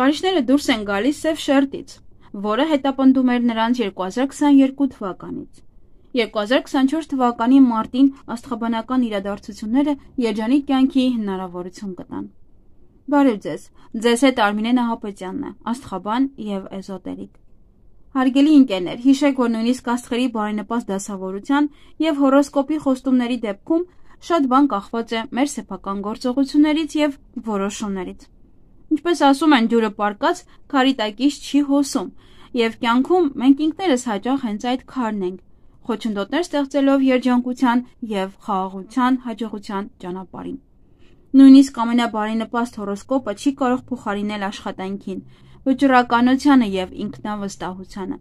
Կարիճները դուրս են գալիս սև շերտից, որը հետապնդում էր նրանց 2022 թվականից։ 2024 թվականի մարտին աստղաբանական իրադարձությունները երջանիկ կյանքի հնարավորություն կտան։ Բարև ձեզ հետ Արմինե Նահապետյանն է, աստղաբան և էզոտերիկ։ Հարգելի ընկերներ, հիշեք, որ նույնիսկ աստղերի բարենպաստ դասավորության և հորոսկոպի խոստումների դեպքում շատ բան կախված է մեր սեփական գործողություններից և որոշումներից։ Ինչպես ասում են, ջուրը պառկած քարի տակից չի հոսում, և կյանքում մենք ինքներս հաճախ հենց այդ քարն ենք, խոչընդոտներ ստեղծելով երջանկության և խաղաղության հաջողության ճանապարհին։ Նույնիսկ ամենաբարենպաստ հորոսկոպը չի կարող փոխարինել աշխատանքին, վճռականությանը և ինքնավստահությանը։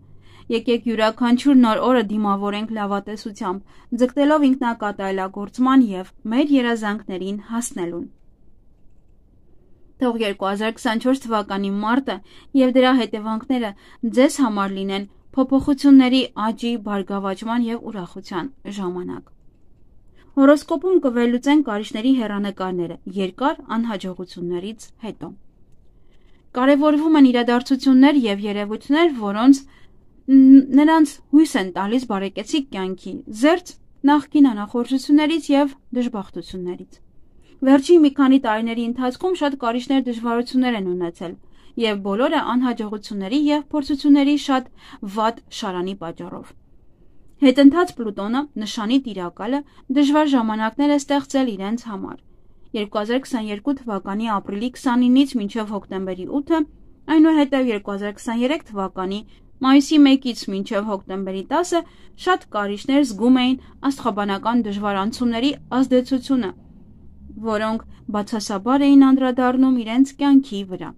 Եկեք յուրաքանչյուր նոր օրը դիմավորենք լավատեսությամբ, ձգտելով ինքնակատարելագործման և մեր երազանքներին հասնելուն։ Թող 2024 թվականի մարտը և դրա հետևանքները ձեզ համար լինեն փոփոխությունների, աճի, բարգավաճման և ուրախության ժամանակ։ Հորոսկոպում կվերլուծեն կարիճների հեռանկարները երկար անհաջողություններից հետո։ Կարևորվում են իրադարձություններ և երևույթներ, որոնց նրանց հույս են տալիս բարեկեցիկ կյանքի, զերծ նախկին անախորժություններից և դժբախտություններից։ Վերջին մի քանի տարիների ընթացքում շատ կարիճներ դժվարություններ են ունեցել, և բոլորը անհաջողությունների և փորձությունների շատ վատ շարանի պատճառով։ Հետընթաց Պլուտոնը, նշանի տիրակալը, դժվար ժամանակներ է ստեղծել իրենց համար։ 2022 թվականի ապրիլի 29-ից մինչև հոկտեմբերի 8-ը, այնուհետև 2023 թվականի մայիսի 1-ից մինչև հոկտեմբերի 10-ը շատ կարիճներ զգում էին աստղաբանական դժվար անցումների ազդեցությունը, որոնք բացասաբար էին անդրադառնում իրենց կյանքի վրա։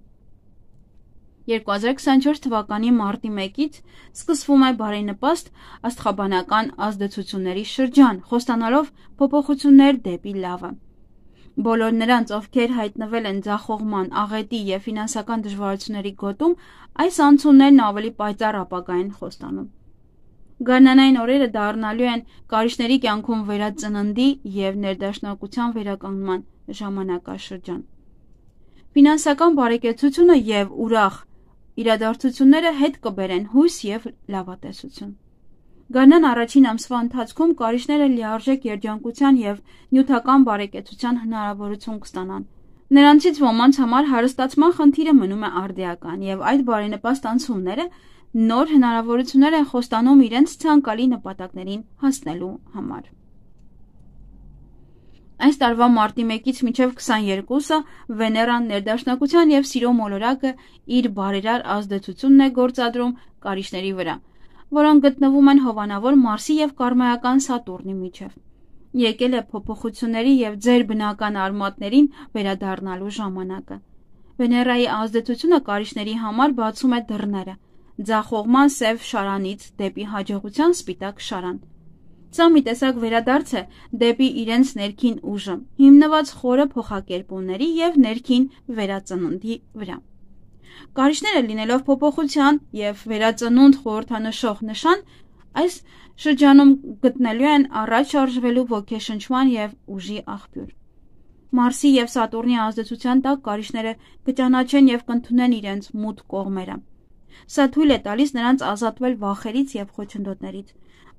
2024 թվականի մարտի 1-ից սկսվում է բարենպաստ աստղաբանական ազդեցությունների շրջան, խոստանալով փոփոխություններ դեպի լավը։ Բոլոր նրանց, ովքեր հայտնվել են ձախողման, աղետի և ֆինանսական դժվարությունների գոտում, այս անցումներն ավելի պայծառ ապագա են խոստանում։ Գարնանային օրերը դառնալու են կարիճների կյանքում վերածննդի և ներդաշնակության վերականգնման ժամանակաշրջան։ Ֆինանսական բարեկեցությունը և ուրախ իրադարձությունները հետ կբերեն հույս և լավատեսություն։ Գարնան առաջին ամսվա ընթացքում կարիճները լիարժեք երջանկության և նյութական բարեկեցության հնարավորություն կստանան։ Նրանցից ոմանց համար հարստացման խնդիրը մնում է արդիական, և այդ բարենպաստ անցումները նոր հնարավորություններ են խոստանում իրենց ցանկալի նպատակներին հասնելու համար։ Այս տարվա մարտի 1-ից մինչև 22-ը Վեներան ներդաշնակության և սիրո մոլորակը իր բարերար ազդեցությունն է գործադրում կարիճների վրա, որոնք գտնվում են հովանավոր Մարսի և կարմայական Սատուրնի միջև։ Եկել է փոփոխությունների և ձեր բնական արմատներին վերադառնալու ժամանակը։ Վեներայի ազդեցությունը կարիճների համար բացում է դռները ձախողման սև շարանից դեպի հաջողության սպիտակ շարան։ Սա մի տեսակ վերադարձ է դեպի իրենց ներքին ուժը, հիմնված խորը փոխակերպումների և ներքին վերածննդի վրա։ Կարիճները լինելով փոփոխության և վերածնունդ խորհրդանշող նշան, այս շրջանում գտնելու են առաջ շարժվելու ոգեշնչման և ուժի աղբյուր։ Մարսի և Սատուրնի ազդեցության տակ կարիճները կճանաչեն և կընդունեն իրենց մութ կողմերը։ Սա թույլ է տալիս նրանց ազատվել վախերից և խոչընդոտներից,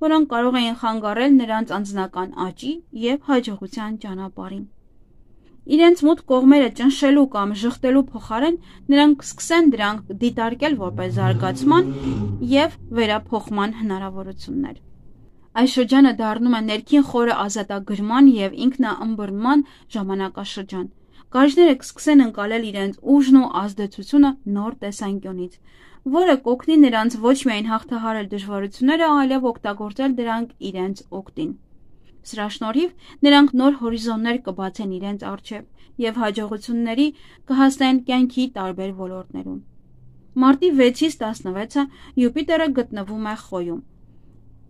որոնք կարող էին խանգարել նրանց անձնական աճի և հաջողության ճանապարհին։ Իրենց մութ կողմերը ճնշելու կամ ժխտելու փոխարեն նրանք կսկսեն դրանք դիտարկել որպես զարգացման և վերափոխման հնարավորություններ։ Այս շրջանը դառնում է ներքին խորը ազատագրման և ինքնաըմբռնման ժամանակաշրջան։ Կարիճները կսկսեն ընկալել իրենց ուժն ու ազդեցությունը նոր տեսանկյունից, որը կօգնի նրանց ոչ միայն հաղթահարել դժվարությունները, այլև օգտագործել դրանք իրենց օգտին։ Սրա շնորհիվ նրանք նոր հորիզոններ կբացեն իրենց առջև և հաջողությունների կհասնեն կյանքի տարբեր ոլորտներում։ Մարտի 6-ից 16-ը Յուպիտերը գտնվում է Խոյում,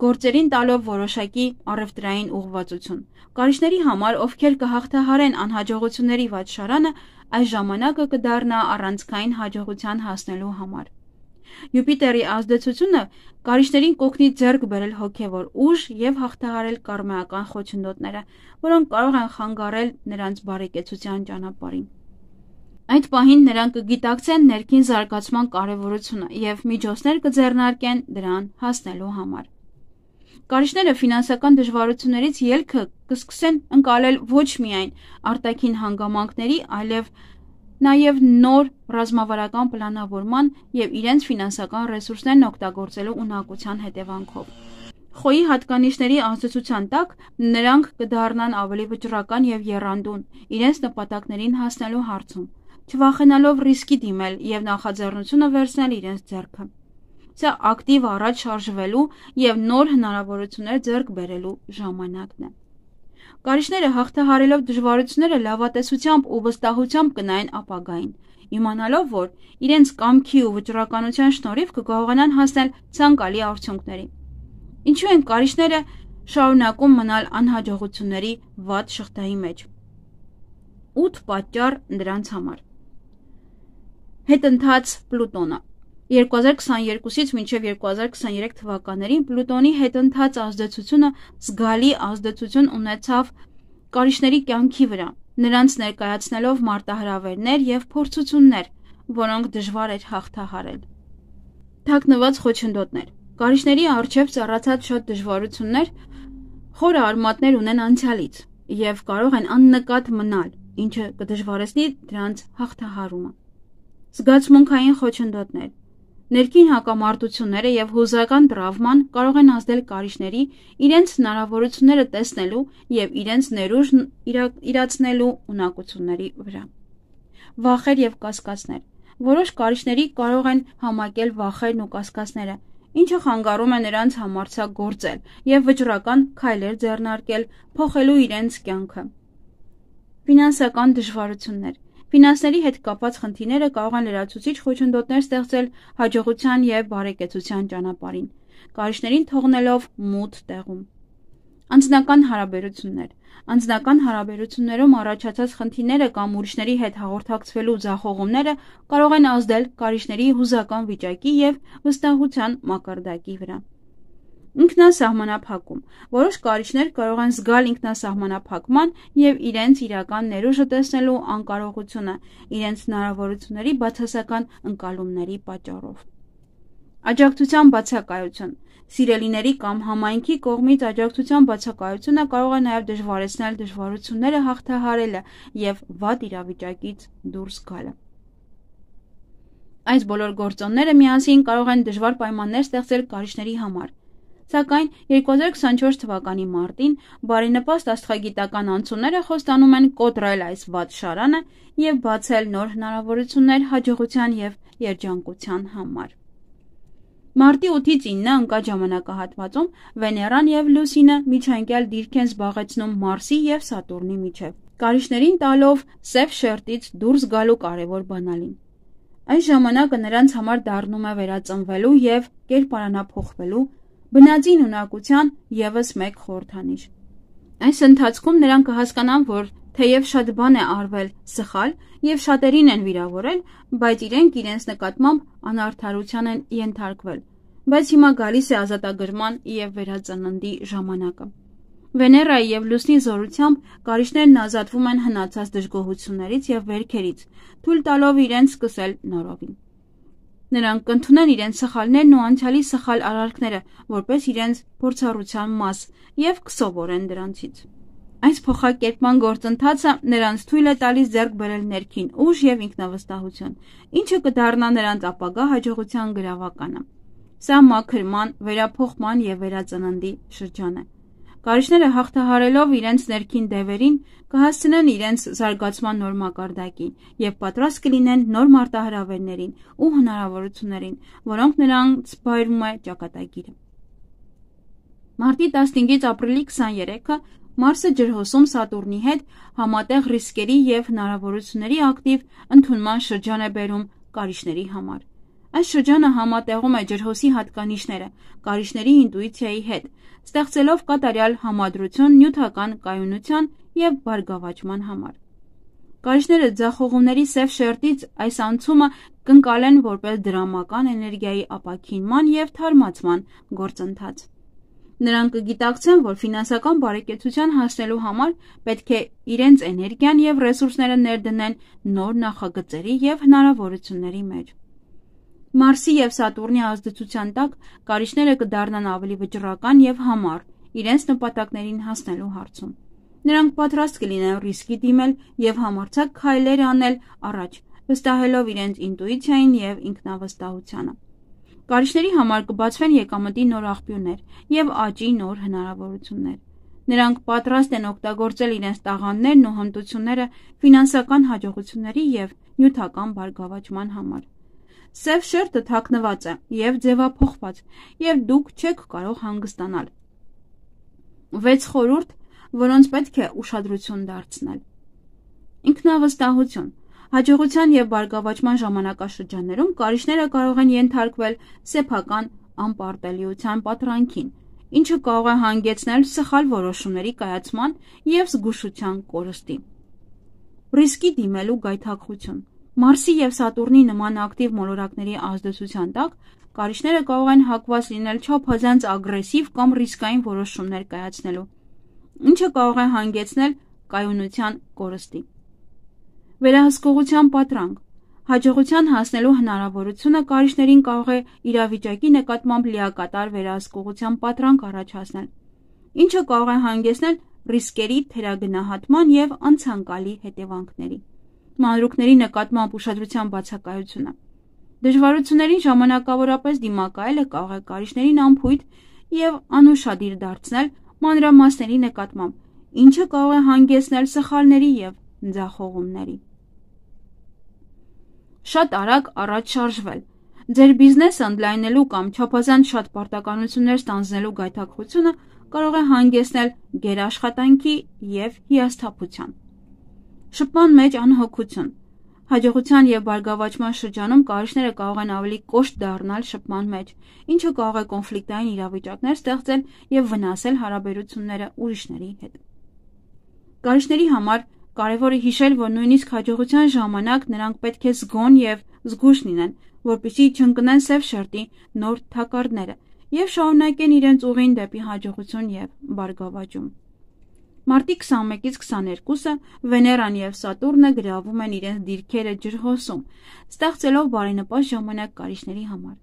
գործերին տալով որոշակի առևտրային ուղղվածություն։ Կարիճների համար, ովքեր կհաղթահարեն անհաջողությունների վատ շարանը, այս ժամանակը կդառնա առանցքային հաջողության հասնելու համար։ Յուպիտերի ազդեցությունը կարիճներին կօգնի ձեռք բերել հոգևոր ուժ և հաղթահարել կարմայական խոչընդոտները, որոնք կարող են խանգարել նրանց բարեկեցության ճանապարհին։ Այդ պահին նրանք կգիտակցեն ներքին զարգացման կարևորությունը և միջոցներ կձեռնարկեն դրան հասնելու համար։ Կարիճները ֆինանսական դժվարություններից ելքը կսկսեն ընկալել ոչ միայն արտաքին հանգամանքների, այլև նաև նոր ռազմավարական պլանավորման և իրենց ֆինանսական ռեսուրսներն օգտագործելու ունակության հետևանքով։ Խոյի հատկանիշների ազդեցության տակ նրանք կդառնան ավելի վճռական և եռանդուն իրենց նպատակներին հասնելու հարցում, չվախենալով ռիսկի դիմել և նախաձեռնությունը վերցնել իրենց ձեռքը։ Սա ակտիվ առաջ շարժվելու և նոր հնարավորություններ ձեռք բերելու ժամանակն է։ Կարիճները հաղթահարելով դժվարությունները լավատեսությամբ ու վստահությամբ կնայեն ապագային, իմանալով, որ իրենց կամքի ու վճռականության շնորհիվ կկարողանան հասնել ցանկալի արդյունքների։ Ինչու են կարիճները շարունակում մնալ անհաջողությունների վատ շղթայի մեջ։ 8 պատճառ դրանց համար։ Հետընթաց Պլուտոնը 2022-ից մինչև 2023 թվականներին Պլուտոնի հետընթաց ազդեցությունը զգալի ազդեցություն ունեցավ կարիճների կյանքի վրա, նրանց ներկայացնելով մարտահրավերներ և փորձություններ, որոնք դժվար էր հաղթահարել։ Թաքնված խոչընդոտներ։ Կարիճների առջև ծառացած շատ դժվարություններ խորը արմատներ ունեն անցյալից և կարող են աննկատ մնալ, ինչը կդժվարեցնի դրանց հաղթահարումը։ Զգացմունքային խոչընդոտներ։ Ներքին հակամարտությունները և հուզական տրավման կարող են ազդել կարիճների իրենց հնարավորությունները տեսնելու և իրենց ներուժն իրացնելու ունակությունների վրա։ Վախեր և կասկածներ։ Որոշ կարիճների կարող են համակել վախերն ու կասկածները, ինչը խանգարում է նրանց համարձակ գործել և վճռական քայլեր ձեռնարկել փոխելու իրենց կյանքը։ Ֆինանսական դժվարություններ։ Ֆինանսների հետ կապված խնդիրները կարող են լրացուցիչ խոչընդոտներ ստեղծել հաջողության և բարեկեցության ճանապարհին, կարիճներին թողնելով մութ տեղում։ Անձնական հարաբերություններ։ Անձնական հարաբերություններում առաջացած խնդիրները կամ ուրիշների հետ հաղորդակցվելու ձախողումները կարող են ազդել կարիճների հուզական վիճակի և վստահության մակարդակի վրա։ Ինքնասահմանափակում։ Որոշ կարիճներ կարող են զգալ ինքնասահմանափակման և իրենց իրական ներուժը տեսնելու անկարողությունը իրենց հնարավորությունների բացասական ընկալումների պատճառով։ Աջակցության բացակայություն։ Սիրելիների կամ համայնքի կողմից աջակցության բացակայությունը կարող է նաև դժվարացնել դժվարությունները հաղթահարելը և վատ իրավիճակից դուրս գալը։ Այս բոլոր գործոնները միասին կարող են դժվար պայմաններ ստեղծել կարիճների համար, սակայն 2024 թվականի մարտին բարենպաստ աստղագիտական անցումները խոստանում են կոտրել այս վատ շարանը և բացել նոր հնարավորություններ հաջողության և երջանկության համար։ Մարտի 8-ից 9-ը ընկած ժամանակահատվածում Վեներան և Լուսինը միջանկյալ դիրք են զբաղեցնում Մարսի և Սատուրնի միջև, կարիճներին տալով սև շերտից դուրս գալու կարևոր բանալին։ Այս ժամանակը նրանց համար դառնում է վերածնվելու և կերպարանափոխվելու բնածին ունակության ևս մեկ խորհրդանիշ։ Այս ընթացքում նրանք կհասկանան, որ թեև շատ բան է արվել սխալ և շատերին են վիրավորել, բայց իրենք իրենց նկատմամբ անարդարության են ենթարկվել, բայց հիմա գալիս է ազատագրման և վերածննդի ժամանակը։ Վեներայի և Լուսնի զորությամբ կարիճներն ազատվում են հնացած դժգոհություններից և վերքերից, թույլ տալով իրենց սկսել նորովին։ Նրանք կընդունեն իրենց սխալներն ու անցյալի սխալ արարքները որպես իրենց փորձառության մաս և կսովորեն դրանցից։ Այս փոխակերպման գործընթացը նրանց թույլ է տալիս ձեռք բերել ներքին ուժ և ինքնավստահություն, ինչը կդառնա նրանց ապագա հաջողության գրավականը։ Սա մաքրման, վերափոխման և վերածննդի շրջան է։ Կարիճները հաղթահարելով իրենց ներքին դևերին կհասցնեն իրենց զարգացման նոր մակարդակին և պատրաստ կլինեն նոր մարտահրավերներին ու հնարավորություններին, որոնք նրանց վայրում է ճակատագիրը։ Մարտի 15-ից ապրիլի 23-ը Մարսը ջրհոսում Սատուրնի հետ համատեղ ռիսկերի և հնարավորությունների ակտիվ ընդունման շրջան է բերում կարիճների համար։ Այս շրջանը համատեղում է ջրհոսի հատկանիշները կարիճների ինտուիցիայի հետ, ստեղծելով կատարյալ համադրություն նյութական կայունության և բարգավաճման համար։ Կարիճները ձախողումների սև շերտից այս անցումը կընկալեն որպես դրամական էներգիայի ապաքինման և թարմացման գործընթաց։ Նրանք կգիտակցեն, որ ֆինանսական բարեկեցության հասնելու համար պետք է իրենց էներգիան և ռեսուրսները ներդնեն նոր նախագծերի և հնարավորությունների մեջ։ Մարսի և Սատուրնի ազդեցության տակ կարիճները կդառնան ավելի վճռական և համառ իրենց նպատակներին հասնելու հարցում։ Նրանք պատրաստ կլինեն ռիսկի դիմել և համարձակ քայլեր անել առաջ, վստահելով իրենց ինտուիցիային և ինքնավստահությանը։ Կարիճների համար կբացվեն եկամտի նոր աղբյուրներ և աճի նոր հնարավորություններ։ Նրանք պատրաստ են օգտագործել իրենց տաղանդներն ու հմտությունները ֆինանսական հաջողությունների և նյութական բարգավաճման համար։ Սև շերտը թաքնված է և ձևափոխված, և դուք չեք կարող հանգստանալ։ 6 խորհուրդ, որոնց պետք է ուշադրություն դարձնել։ Ինքնավստահություն։ Հաջողության և բարգավաճման ժամանակաշրջաններում կարիճները կարող են ենթարկվել սեփական անպարտելիության պատրանքին, ինչը կարող է հանգեցնել սխալ որոշումների կայացման և զգուշության կորստի։ Ռիսկի դիմելու գայթակղություն։ Մարսի և Սատուրնի նման ակտիվ մոլորակների ազդեցության տակ կարիճները կարող են հակված լինել չափազանց ագրեսիվ կամ ռիսկային որոշումներ կայացնելու, ինչը կարող է հանգեցնել կայունության կորստի։ Վերահսկողության պատրանք։ Հաջողության հասնելու հնարավորությունը կարիճներին կարող է իրավիճակի նկատմամբ լիակատար վերահսկողության պատրանք առաջացնել, ինչը կարող է հանգեցնել ռիսկերի թերագնահատման և անցանկալի հետևանքների։ Մանրուքների նկատմամբ ուշադրության բացակայությունը։ Դժվարություններին ժամանակավորապես դիմակայելը կարող է կարիճներին անփույթ և անուշադիր դարձնել մանրամասների նկատմամբ, ինչը կարող է հանգեցնել սխալների և ձախողումների։ Շատ արագ առաջ շարժվել։ Ձեր բիզնեսը ընդլայնելու կամ չափազանց շատ պարտականություններ ստանձնելու գայթակղությունը կարող է հանգեցնել գերաշխատանքի և հիասթափության։ Շփման մեջ անհոգություն։ Հաջողության և բարգավաճման շրջանում կարիճները կարող են ավելի կոշտ դառնալ շփման մեջ, ինչը կարող է կոնֆլիկտային իրավիճակներ ստեղծել և վնասել հարաբերությունները ուրիշների հետ։ Կարիճների համար կարևոր է հիշել, որ նույնիսկ հաջողության ժամանակ նրանք պետք է զգոն և զգույշ լինեն, որպեսզի չընկնեն սև շերտի նոր թակարդները և շարունակեն իրենց ուղին դեպի հաջողություն և բարգավաճում։ Մարտի 21-ից 22-ը Վեներան և Սատուրնը գրավում են իրենց դիրքերը ջրհոսում, ստեղծելով բարենպաստ ժամանակ կարիճների համար,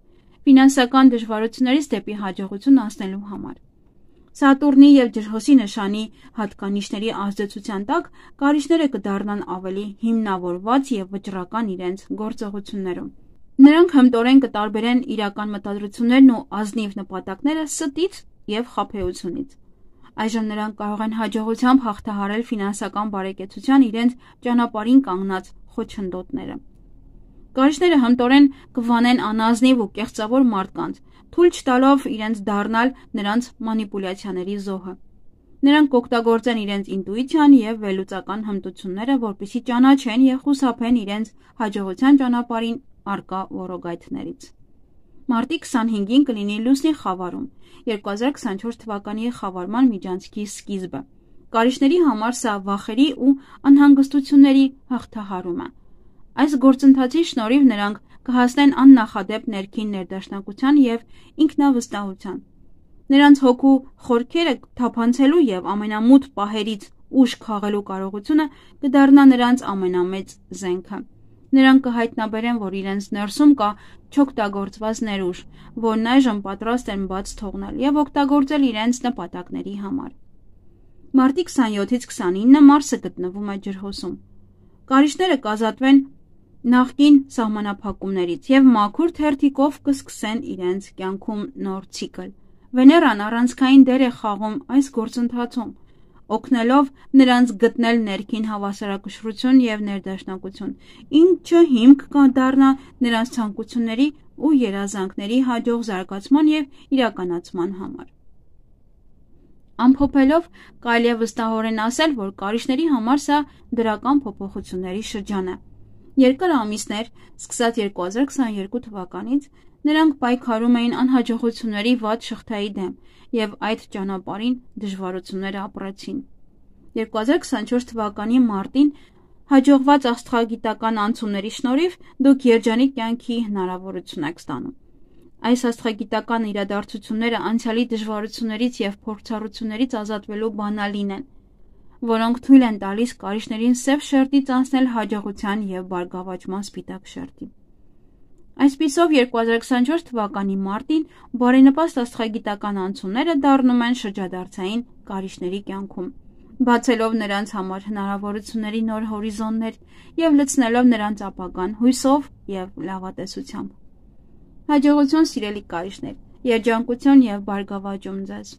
ֆինանսական դժվարություններից դեպի հաջողություն անցնելու համար։ Սատուրնի և ջրհոսի նշանի հատկանիշների ազդեցության տակ կարիճները կդառնան ավելի հիմնավորված և վճռական իրենց գործողություններում։ Նրանք հմտորեն կտարբերեն իրական մտադրություններն ու ազնիվ նպատակները ստից և խաբեությունից։ Այժմ նրանք կարող են հաջողությամբ հաղթահարել ֆինանսական բարեկեցության իրենց ճանապարհին կանգնած խոչընդոտները։ Կարիճները հմտորեն կվանեն անազնիվ ու կեղծավոր մարդկանց, թույլ չտալով իրենց դառնալ նրանց մանիպուլյացիաների զոհը։ Նրանք կօգտագործեն իրենց ինտուիցիան և վերլուծական հմտությունները, որպեսզի ճանաչեն և խուսափեն իրենց հաջողության ճանապարհին առկա ոռոգայթներից։ Մարտի 25-ին կլինի լուսնի խավարում, 2024 թվականի խավարման միջանցքի սկիզբը։ Կարիճների համար սա վախերի ու անհանգստությունների հաղթահարում է։ Այս գործընթացի շնորհիվ նրանք կհասնեն աննախադեպ ներքին ներդաշնակության և ինքնավստահության։ Նրանց հոգու խորքերը թափանցելու և ամենամութ պահերից ուժ քաղելու կարողությունը կդառնա նրանց ամենամեծ զենքը։ Նրանք կհայտնաբերեն, որ իրենց ներսում կա չօգտագործված ներուժ, որն այժմ պատրաստ են բաց թողնել և օգտագործել իրենց նպատակների համար։ Մարտի 27-ից 29-ը Մարսը գտնվում է ջրհոսում։ Կարիճները կազատվեն նախկին սահմանափակումներից և մաքուր թերթիկով կսկսեն իրենց կյանքում նոր ցիկլ։ Վեներան առանցքային դեր է խաղում այս գործընթացում, օգնելով նրանց գտնել ներքին հավասարակշռություն և ներդաշնակություն, ինչը հիմք կդառնա նրանց ցանկությունների ու երազանքների հաջող զարգացման և իրականացման համար։ Ամփոփելով, կարելի է վստահորեն ասել, որ կարիճների համար սա դրական փոփոխությունների շրջան է։ Երկար ամիսներ, սկսած 2022 թվականից, նրանք պայքարում էին անհաջողությունների վատ շղթայի դեմ և այդ ճանապարհին դժվարություններ ապրեցին։ 2024 թվականի մարտին հաջողված աստղագիտական անցումների շնորհիվ դուք երջանիկ կյանքի հնարավորություն եք ստանում։ Այս աստղագիտական իրադարձությունները անցյալի դժվարություններից և փորձառություններից ազատվելու բանալին են, որոնք թույլ են տալիս կարիճներին սև շերտից անցնել հաջողության և բարգավաճման սպիտակ շերտի։ Այսպիսով 2024 թվականի մարտին բարենպաստ աստղագիտական անցումները դառնում են շրջադարձային կարիճների կյանքում, բացելով նրանց համար հնարավորությունների նոր հորիզոններ և լցնելով նրանց ապագան հույսով և լավատեսությամբ։ Հաջողություն սիրելի կարիճներ, երջանկություն և բարգավաճում ձեզ։